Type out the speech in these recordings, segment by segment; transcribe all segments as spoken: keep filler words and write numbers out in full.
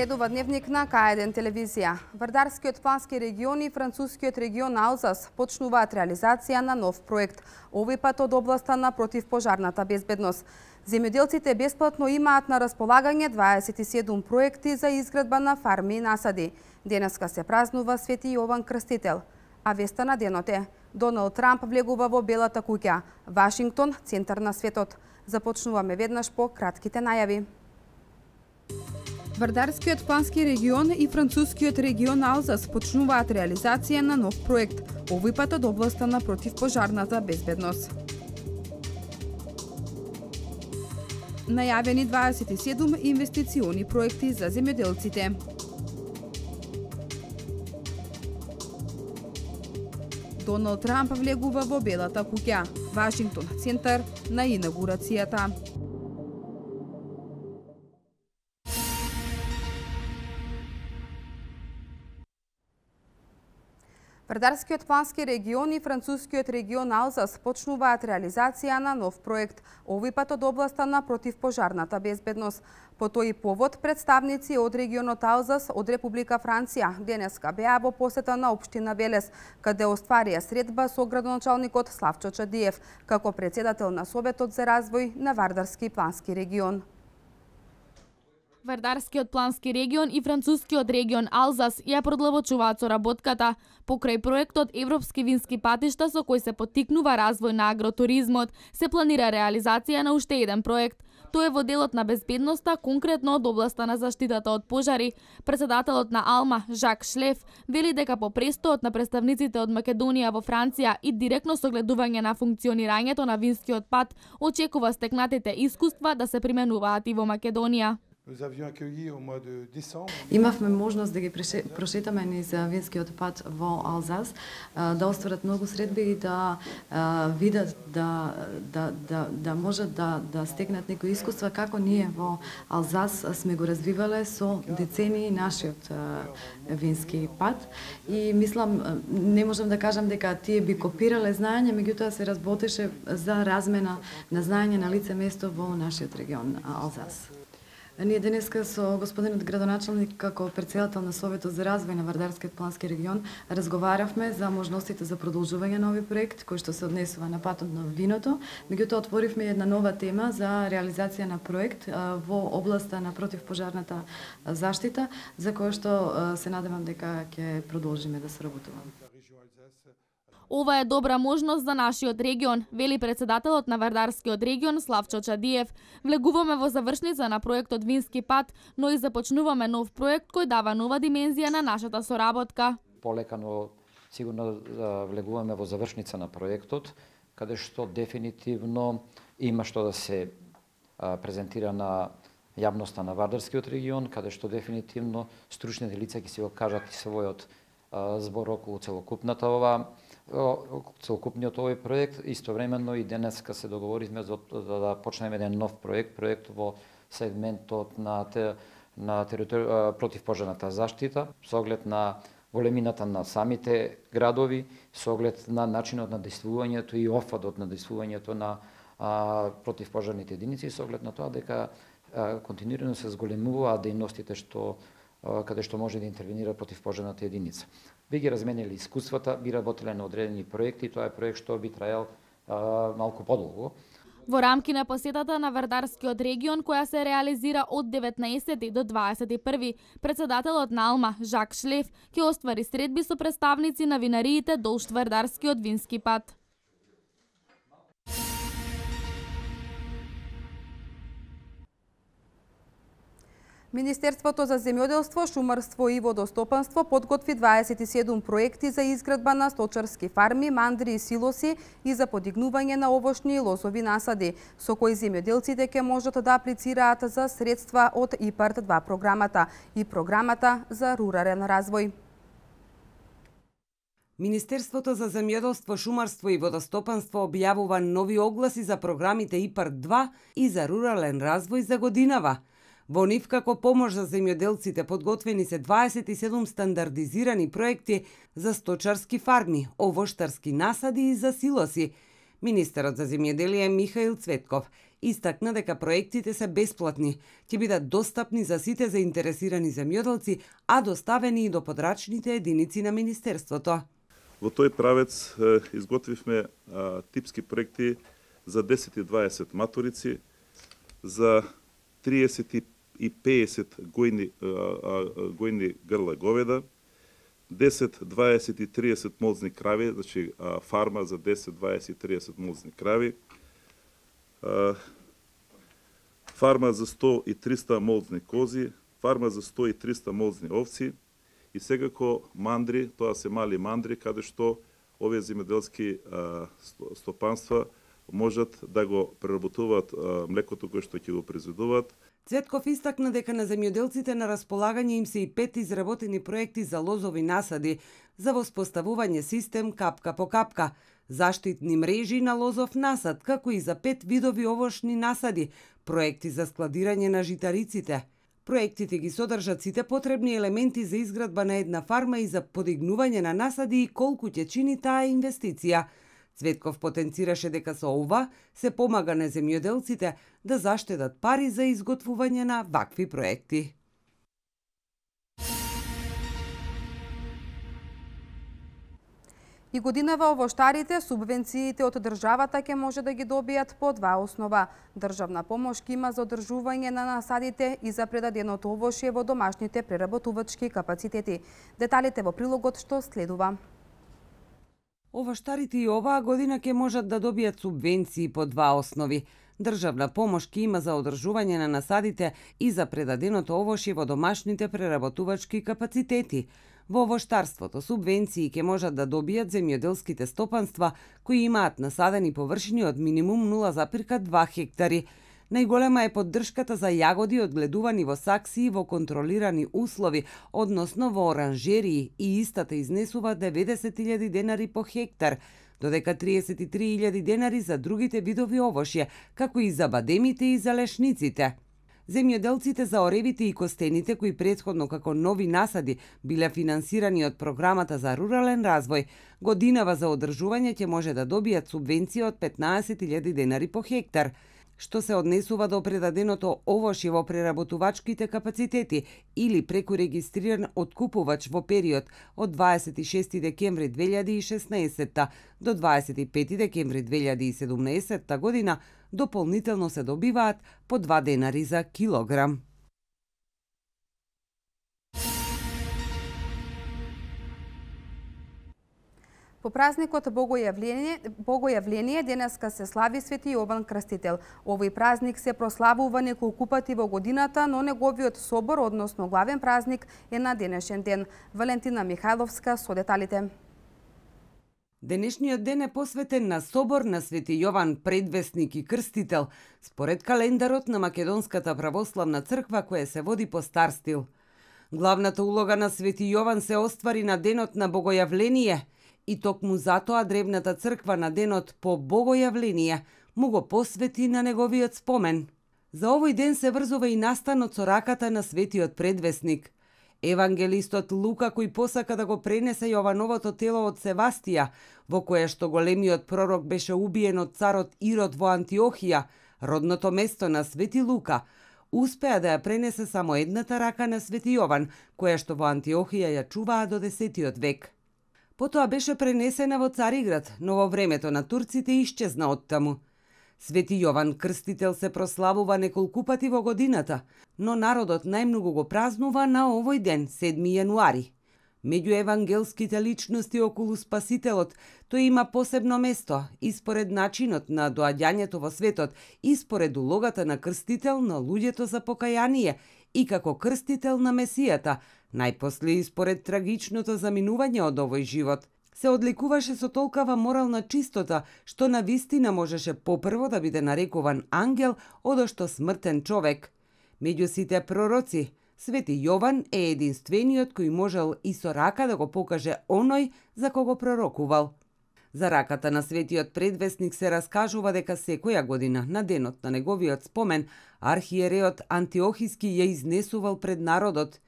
Следува дневник на К еден телевизија. Вардарскиот плански регион и францускиот регион Алзас почнуваат реализација на нов проект, овој пат од областа на противпожарната безбедност. Земјоделците бесплатно имаат на располагање дваесет и седум проекти за изградба на фарми и насади. Денеска се празнува Свети Јован Крстител. А веста на денот е: Доналд Трамп влегува во Белата куќа, Вашингтон центар на светот. Започнуваме веднаш по кратките најави. Вардарскиот плански регион и францускиот регион Алзас почнуваат реализација на нов проект, овој пат од областа на противпожарната безбедност. Најавени дваесет и седум инвестициони проекти за земјоделците. Доналд Трамп влегува во Белата куќа, Вашингтон центар на инаугурацијата. Вардарскиот плански регион и францускиот регион Алзас почнуваат реализација на нов проект, овој пат од областа на противпожарната безбедност. По тој повод, представници од регионот Алзас од Република Франција денеска беа во посета на општина Велес, каде остварија средба со градоначалникот Славчо Чадиев, како председател на Советот за развој на Вардарски плански регион. Вардарскиот плански регион и францускиот регион Алзас ја продлабочуваат соработката покрај проектот Европски вински патишта со кој се поттикнува развој на агротуризмот. Се планира реализација на уште еден проект. Тој е во делот на безбедноста, конкретно од областа на заштитата од пожари. Председателот на Алма, Жак Шлеф, вели дека по престоот на представниците од Македонија во Франција и директно согледување на функционирањето на винскиот пат, очекува стекнатите искуства да се применуваат и во Македонија. Имавме можност да ги прошетаме низ винскиот пат во Алзас, да остварат многу средби и да видат да да да да можат да да стекнат некои искуства како ние во Алзас сме го развивале со децении нашиот вински пат. И мислам, не можам да кажам дека тие би копирале знаење, меѓутоа се работеше за размена на знаење на лице место во нашиот регион Алзас. Ние денеска со господинот градоначалник како председател на Советот за развој на Вардарскиот плански регион разговаравме за можностите за продолжување на овој проект кој што се однесува на патот на виното. Меѓутоа отворивме една нова тема за реализација на проект во областа на противпожарната заштита, за која што се надевам дека ќе продолжиме да соработуваме. Ова е добра можност за нашиот регион, вели председателот на Вардарскиот регион Славчо Чадиев. Влегуваме во завршница на проектот Вински пат, но и започнуваме нов проект кој дава нова димензија на нашата соработка. Полека, но сигурно влегуваме во завршница на проектот, каде што дефинитивно има што да се презентира на јавноста на Вардарскиот регион, каде што дефинитивно стручните лица ќе си го кажат и својот збор околу целокупната ова целокупниот овој проект. Истовремено и денеска се договоривме за да, да почнеме еден нов проект, проект во сегментот на те, на територија противпожарната заштита, со оглед на големината на самите градови, со оглед на начинот на действувањето и офатот на действувањето на а, противпожарните единици, со оглед на тоа дека а, континуирано се зголемуваат дејностите што каде што може да интервенира противпожарната единица. Би ги разменили искуствата, би работеле на одредени проекти, тоа е проект што би траел а, малку подолго. Во рамки на посетата на Вардарскиот регион, која се реализира од деветнаесети до дваесет и први, председателот на Алма, Жак Шлеф, ќе оствари средби со представници на винариите долж Вардарскиот вински пат. Министерството за земјоделство, шумарство и водостопанство подготви дваесет и седум проекти за изградба на сточарски фарми, мандри и силоси и за подигнување на овошни и лозови насади, со кои земјоделците ќе можат да аплицираат за средства од ИПАРД два програмата и програмата за рурален развој. Министерството за земјоделство, шумарство и водостопанство објавува нови огласи за програмите ИПАРД два и за рурален развој за годинава. Во нив како помош за земјоделците подготвени се дваесет и седум стандардизирани проекти за сточарски фарми, овоштарски насади и за силоси. Министерот за земјоделие Михаил Цветков истакна дека проектите се бесплатни, ќе бидат достапни за сите заинтересирани земјоделци, а доставени и до подрачните единици на Министерството. Во тој правец изготвивме типски проекти за десет и дваесет маторици, за триесет и песет гојни, гојни грла говеда, десет, дваесет и триесет молзни крави, значи фарма за десет, дваесет и триесет молзни крави, фарма за сто и триста молзни кози, фарма за сто и триста молзни овци и секако мандри, тоа се мали мандри, каде што овие земјоделски стопанства можат да го преработуваат млекото кое што ќе го произведуваат. Цветков истакна дека на земјоделците на располагање им се и пет изработени проекти за лозови насади за воспоставување систем капка по капка, заштитни мрежи на лозов насад, како и за пет видови овошни насади, проекти за складирање на житариците. Проектите ги содржат сите потребни елементи за изградба на една фарма и за подигнување на насади и колку ќе чини таа инвестиција. Цветков потенцираше дека со ова се помага на земјоделците да заштедат пари за изготвување на вакви проекти. И годинава овоштарите субвенциите од државата ќе може да ги добијат по два основа. Државна помош ќе има за одржување на насадите и за предаденото овошје во домашните преработувачки капацитети. Деталите во прилогот што следува. Овоштарите и оваа година ќе можат да добијат субвенции по два основи. Државна помош ќе има за одржување на насадите и за предаденото овошје во домашните преработувачки капацитети. Во овоштарството субвенции ќе можат да добијат земјоделските стопанства кои имаат насадени површини од минимум нула запирка две хектари. Најголема е поддршката за јагоди одгледувани во саксии во контролирани услови, односно во оранжерии, и истата изнесува деветдесет илјади денари по хектар, додека триесет и три илјади денари за другите видови овошје, како и за бадемите и за лешниците. Земјоделците за оревите и костените, кои претходно како нови насади биле финансирани од програмата за рурален развој, годинава за одржување ќе може да добијат субвенција од петнаесет илјади денари по хектар, што се однесува до предаденото овошје во преработувачките капацитети или преку регистриран откупувач во период од дваесет и шести декември две илјади и шеснаесетта до дваесет и пети декември две илјади и седумнаесетта година, дополнително се добиваат по два денари за килограм. По празникот Богојавление, Богојавление денеска се слави Свети Јован Крстител. Овој празник се прославува неколку пати во годината, но неговиот собор, односно главен празник, е на денешен ден. Валентина Михајловска со деталите. Денешниот ден е посветен на собор на Свети Јован Предвесник и Крстител, според календарот на Македонската православна црква која се води по стар стил. Главната улога на Свети Јован се оствари на денот на Богојавление, и токму затоа древната црква на денот по Богојавление му го посвети на неговиот спомен. За овој ден се врзува и настанот со раката на Светиот Предвесник. Евангелистот Лука, кој посака да го пренесе Јовановото тело од Севастија, во кое што големиот пророк беше убиен од царот Ирод во Антиохија, родното место на Свети Лука, успеа да ја пренесе само едната рака на Свети Јован, која што во Антиохија ја чуваа до десетиот век. Потоа беше пренесена во Цариград, но во времето на турците исчезна оттаму. Свети Јован Крстител се прославува неколку пати во годината, но народот најмногу го празнува на овој ден, седми јануари. Меѓу евангелските личности околу Спасителот, тој има посебно место и според начинот на доаѓањето во светот и според улогата на крстител на луѓето за покаяние и како крстител на Месијата, најпосле и според трагичното заминување од овој живот. Се одликуваше со толкава морална чистота, што на вистина можеше попрво да биде нарекуван ангел, одошто смртен човек. Меѓу сите пророци, Свети Јован е единствениот кој можел и со рака да го покаже оној за кого пророкувал. За раката на светиот предвесник се раскажува дека секоја година, на денот на неговиот спомен, архиереот Антиохиски ја изнесувал пред народот.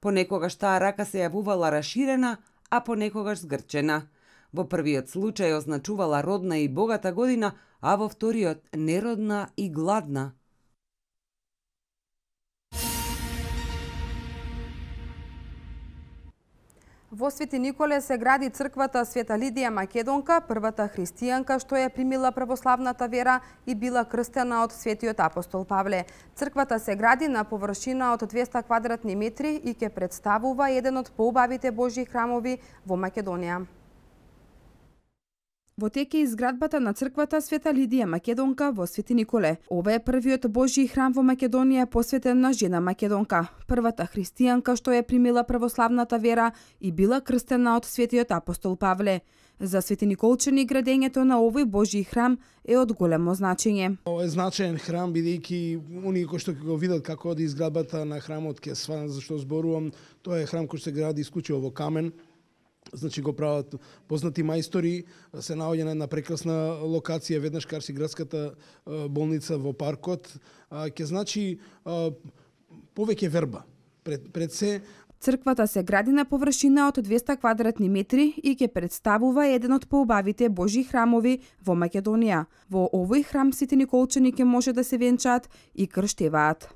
Понекогаш таа рака се јавувала раширена, а понекогаш згрчена. Во првиот случај означувала родна и богата година, а во вториот неродна и гладна. Во Свети Николе се гради црквата Света Лидија Македонка, првата христијанка што ја примила православната вера и била крстена од Светиот апостол Павле. Црквата се гради на површина од двеста квадратни метри и ќе представува еден од поубавите Божји храмови во Македонија. Во тек е изградбата на црквата Света Лидија Македонка во Свети Николе. Ова е првиот Божји храм во Македонија посветен на жена македонка, првата христијанка што ја примила православната вера и била крстена од Светиот апостол Павле. За Свети Николчани градењето на овој Божји храм е од големо значење. Ова е значаен храм, бидејќи оние кои што ќе го видат како оди изградбата на храмот ќе сваат за што зборувам. Тоа е храм кој се гради исклучиво во камен. Значи го прават познати мајстори, се наоѓа на една прекрасна локација, веднаш карси градската болница во паркот. Ќе значи повеќе верба. Пред, пред се Црквата се гради на површина од двеста квадратни метри и ќе представува еден од поубавите Божји храмови во Македонија. Во овој храм сите николчани ќе може да се венчаат и крштеваат.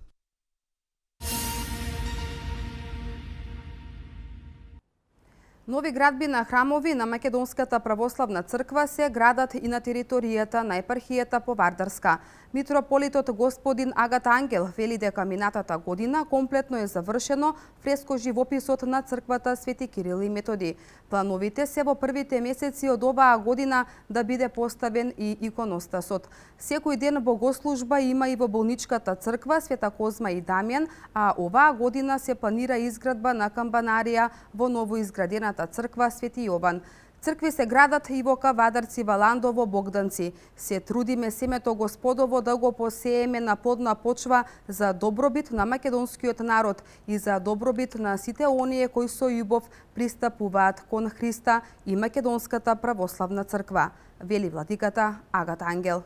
Нови градби на храмови на Македонската православна црква се градат и на територијата на епархијата по Вардарска. Митрополитот господин Агат Ангел вели дека минатата година комплетно е завршено фреско живописот на црквата Свети Кирил и Методи. Плановите се во првите месеци од оваа година да биде поставен и иконостасот. Секој ден богослужба има и во болничката црква Света Козма и Дамјан, а оваа година се планира изградба на камбанарија во новоизградената црква Свети Јован. Цркви се градат и во Кавадарци, Валандово, Богданци. Се трудиме семето Господово да го посееме на плодна почва за добробит на македонскиот народ и за добробит на сите оние кои со љубов пристапуваат кон Христа и Македонската православна црква, вели владиката Агат Ангел.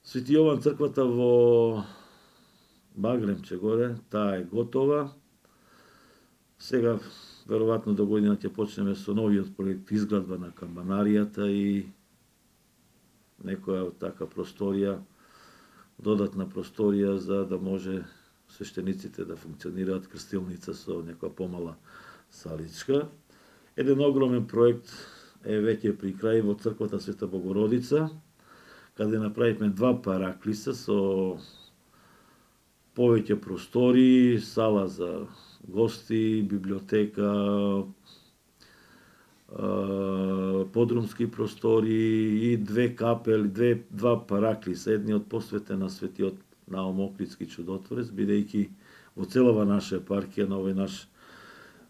Свети Јован црквата во Багремче горе, таа е готова. Сега веројатно до година ќе почнеме со новиот проект изградба на камбанаријата и некоја така просторија, додатна просторија за да може свештениците да функционираат, крстилница со некоја помала саличка. Еден огромен проект е веќе при крај во црквата Света Богородица, каде направивме два параклиса со повеќе простори, сала за гости, библиотека, подрумски простори и две капели, две, два параклиса. Едниот посветен на светиот Наум Охридски чудотворец, бидејќи во целава наша епархија, на овој наш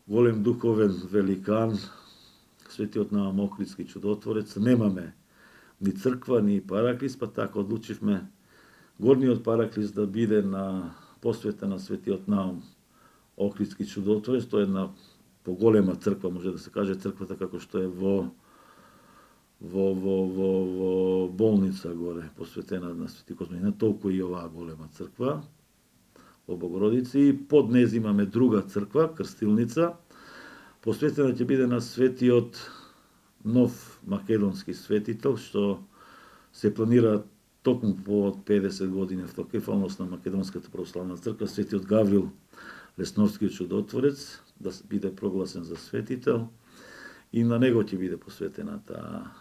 голем духовен великан, светиот Наум Охридски чудотворец, немаме ни црква, ни параклис, па така одлучивме горниот параклис да биде на посветен на светиот Наум Охридски чудотворец. Тоа е една поголема црква, може да се каже црквата како што е во во во во, во болница горе, посветена на Свети Козма. Толку и оваа голема црква во Богородица, и под нез имаме друга црква, крстилница, посветена ќе биде на светиот нов македонски светител, што се планира токму по педесет години автокефалност на Македонската православна црква, светиот Гаврил Лесновски чудотворец, да биде прогласен за светител, и на него ќе биде посветена таа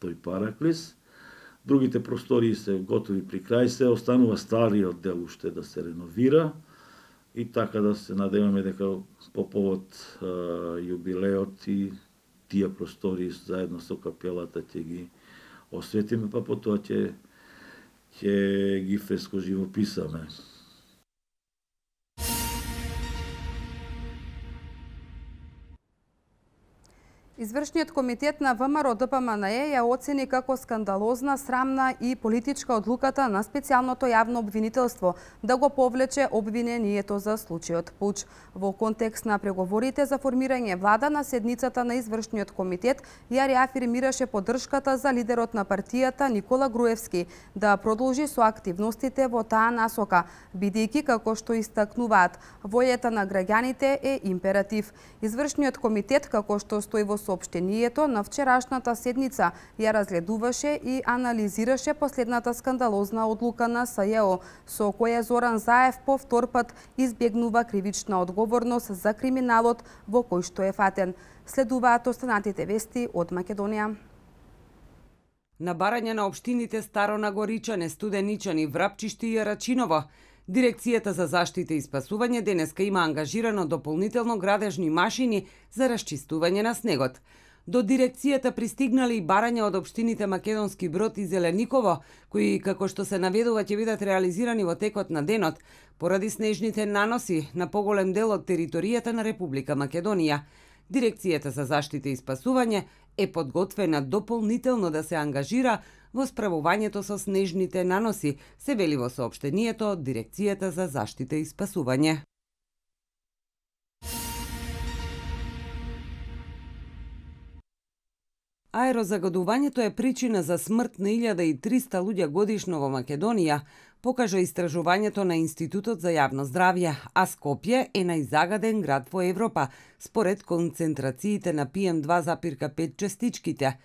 тој параклис. Другите простории се готови при крај се, останува стариот дел уште да се реновира, и така да се надеваме дека по повод а, јубилеот и тие простории заедно со капелата ќе ги осветиме, па потоа ќе ќе ги фреско живописаме. Извршниот комитет на ВМРО Д П М Н Е ја оцени како скандалозна, срамна и политичка одлуката на специјалното јавно обвинителство да го повлече обвинението за случајот Пуч. Во контекст на преговорите за формирање влада на седницата на Извршниот комитет ја реафирмираше поддршката за лидерот на партијата Никола Груевски да продолжи со активностите во таа насока, бидејќи како што истакнуваат, војата на граѓаните е императив. Извршниот комитет, како што стои во соопштението, на вчерашната седница ја разгледуваше и анализираше последната скандалозна одлука на С Ј О, со која Зоран Заев по втор пат избегнува кривична одговорност за криминалот во кој што е фатен. Следуваат останатите вести од Македонија. На барање на општините Старо Нагоричане, Студеничани, Врапчишти и Рачиново, Дирекцијата за заштита и спасување денеска има ангажирано дополнително градежни машини за расчистување на снегот. До дирекцијата пристигнали и барања од општините Македонски Брод и Зелениково, кои, како што се наведува, ќе бидат реализирани во текот на денот, поради снежните наноси на поголем дел од територијата на Република Македонија. Дирекцијата за заштита и спасување е подготвена дополнително да се ангажира во справувањето со снежните наноси, се вели во соопштението од Дирекцијата за заштита и спасување. Аерозагадувањето е причина за смрт на илјада и триста луѓе годишно во Македонија, покажа истражувањето на Институтот за јавно здравје, а Скопје е најзагаден град во Европа, според концентрациите на Пи Ем два запирка пет частичките.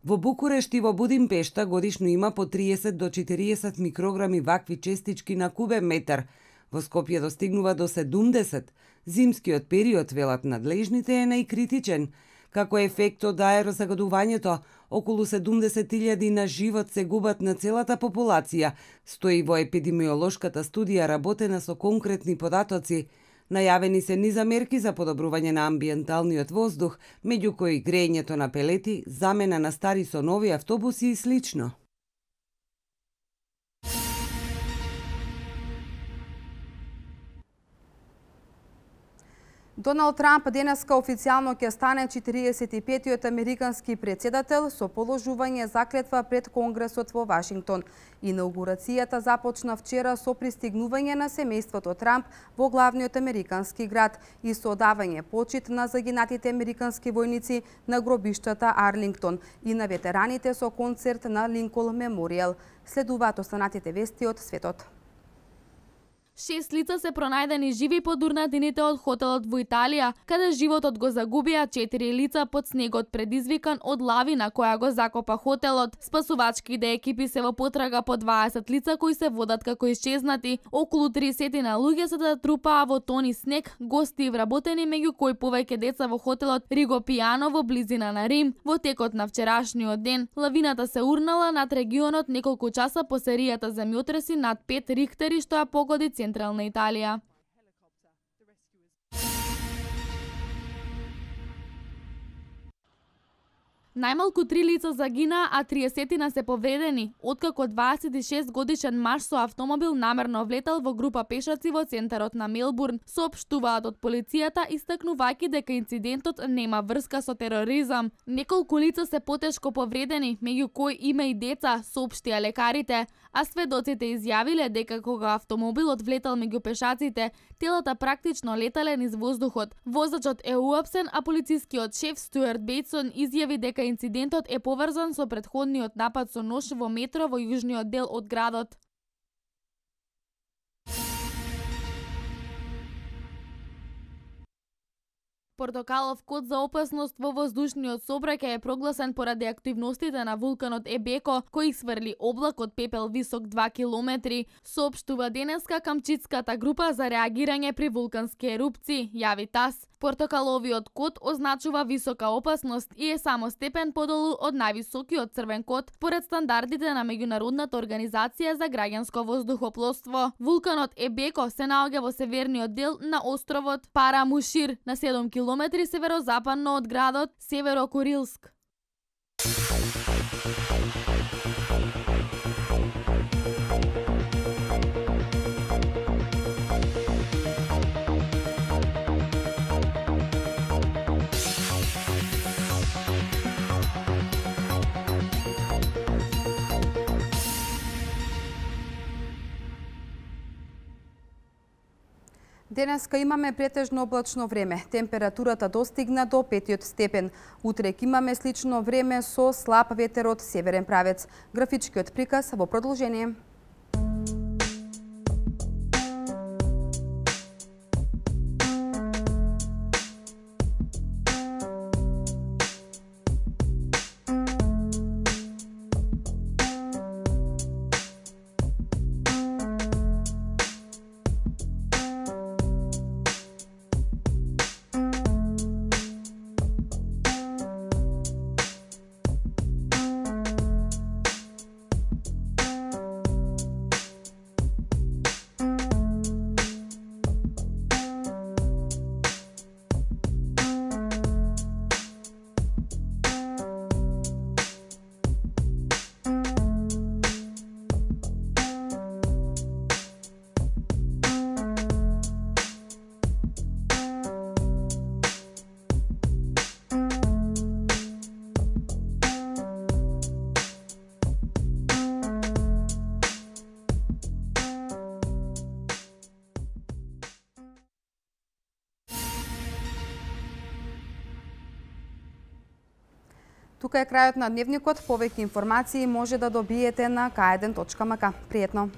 Во Букурешт и во Будимпешта годишно има по триесет до четириесет микрограми вакви честички на кубен метар. Во Скопје достигнува до седумдесет. Зимскиот период, велат надлежните, е најкритичен. Како ефект од аерозагадувањето, околу седумдесет илјади на живот се губат на целата популација, стои во епидемиолошката студија работена со конкретни податоци. Најавени се низа мерки за подобрување на амбиенталниот воздух, меѓу кои грејењето на пелети, замена на стари со нови автобуси и слично. Доналд Трамп денеска официјално ќе стане четириесет и петиот американски претседател со положување заклетва пред Конгресот во Вашингтон. Инаугурацијата започна вчера со пристигнување на семејството Трамп во главниот американски град и со одавање почит на загинатите американски војници на гробиштата Арлингтон и на ветераните со концерт на Линкол Меморијал. Следуваат останатите вести од светот. Шест лица се пронајдени живи под урнатините од хотелот во Италија, каде животот го загубија четири лица под снегот предизвикан од лавина која го закопа хотелот. Спасувачките екипи се во потрага по дваесет лица кои се водат како исчезнати. Околу тридесет на луѓе се да трупаа во тони снег, гости и вработени, меѓу кои повеќе деца во хотелот Риго Пиано во близина на Рим. Во текот на вчерашниот ден, лавината се урнала над регионот неколку часа по серијата земјотреси над пет Рихтери што ја погоди Централна Италија. Најмалку три лица загинаа, а триесет се повредени, откако дваесет и шест годишен маж со автомобил намерно влетал во група пешаци во центарот на Мелбурн. Соопштуваат од полицијата, истакнувајќи дека инцидентот нема врска со тероризам. Неколку лица се потешко повредени, меѓу кои има и деца, соопштија лекарите, а сведоците изјавиле дека кога автомобилот влетал меѓу пешаците, телата практично летале низ воздухот. Возачот е уапсен, а полицискиот шеф Стюарт Бейтсон изјави дека инцидентот е поврзан со претходниот напад со нош во метро во јужниот дел од градот. Портокалов код за опасност во воздушниот сообраќај е прогласен поради активностите на вулканот Ебеко, кој сврли облак од пепел висок два километри, соопштува денеска Камчитската група за реагирање при вулкански ерупции, јави ТАСС. Портокаловиот код означува висока опасност и е само степен подолу од највисокиот црвен код, според стандардите на Меѓународната организација за граѓанско воздухопловство. Вулканот Ебеко се наоѓа во северниот дел на островот Парамушир, на седум километри северозападно од градот Северокурилск. Денеска имаме претежно облачно време. Температурата достигна до петиот степен. Утрек имаме слично време со слаб ветер од северен правец. Графичкиот приказ во продолжение. Тука е крајот на дневникот. Повеќе информации може да добиете на к еден точка м к. Пријетно!